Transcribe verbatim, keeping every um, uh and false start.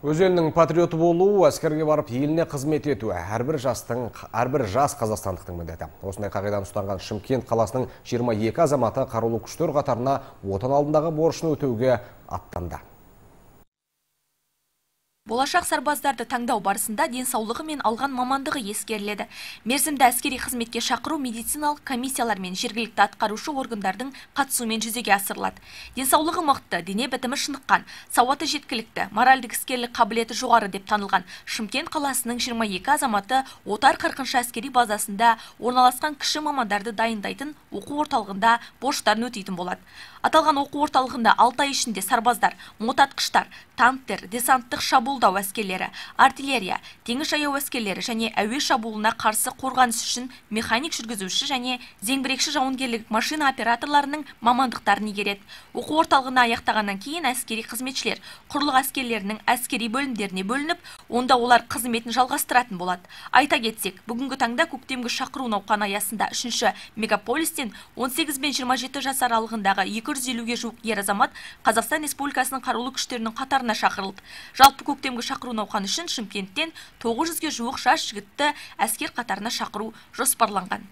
Өз елінің патриоты болу, әскерге барып еліне қызмет ету әрбір жастың, әрбір жас қазақстандықтың міндеті. Осындай қағидан ұстанған Шымкент қаласының жиырма екі азаматы қарулы күштер қатарына отан алдындағы борышын өтеуге аттанды. Болашақ сарбаздарды таңдау барысында денсаулығы мен алған мамандығы ескеріледі. Мерзімді әскери қызметке шақыру медициналық комиссиялар мен жергілікті атқарушы органдардың қатысуымен жүзеге асырылады. Денсаулығы мықты, дене бітімі шыныққан, сауаты жеткілікті, моральдік іскерлік қабілеті жоғары деп танылған Шымкент қаласының жиырма екі азаматы Отар қырқыншы әскери базасында орналасқан кіші мамандарды дайындайтын оқу орталығында борыштарын өтейтін болады. Аталған оқу орталығында алты ай ішінде сарбаздар, мотатқыштар, танктер, десанттық шабуылдау әскерлері, артиллерия, теңіз жаяу әскерлері және әуе шабуылына қарсы қорғаныс үшін механик жүргізуші және зеңбірекші жауынгерлік машина операторларының мамандықтарын игереді. Оқу орталығына аяқтағаннан кейін әскери қызметшілер құрлық әскерлерінің әскери бөлімдеріне бөлініп, онда олар қызметін жалғастыратын болады. Айта кетсек, бүгінгі таңда көктемгі шақыру науқаны аясында үшінші мегаполистен он сегіз бен жиырма жеті жас аралығындағы екі жүз елуге жуық ер азамат Қазақстан Республикасының қарулы күштерінің қатарына шақырылды. Жалпы көктемгі шақыру науқаны үшін Шымкенттен тоғыз жүзге жуық жас жігітті әскер қатарына шақыру жоспарланған.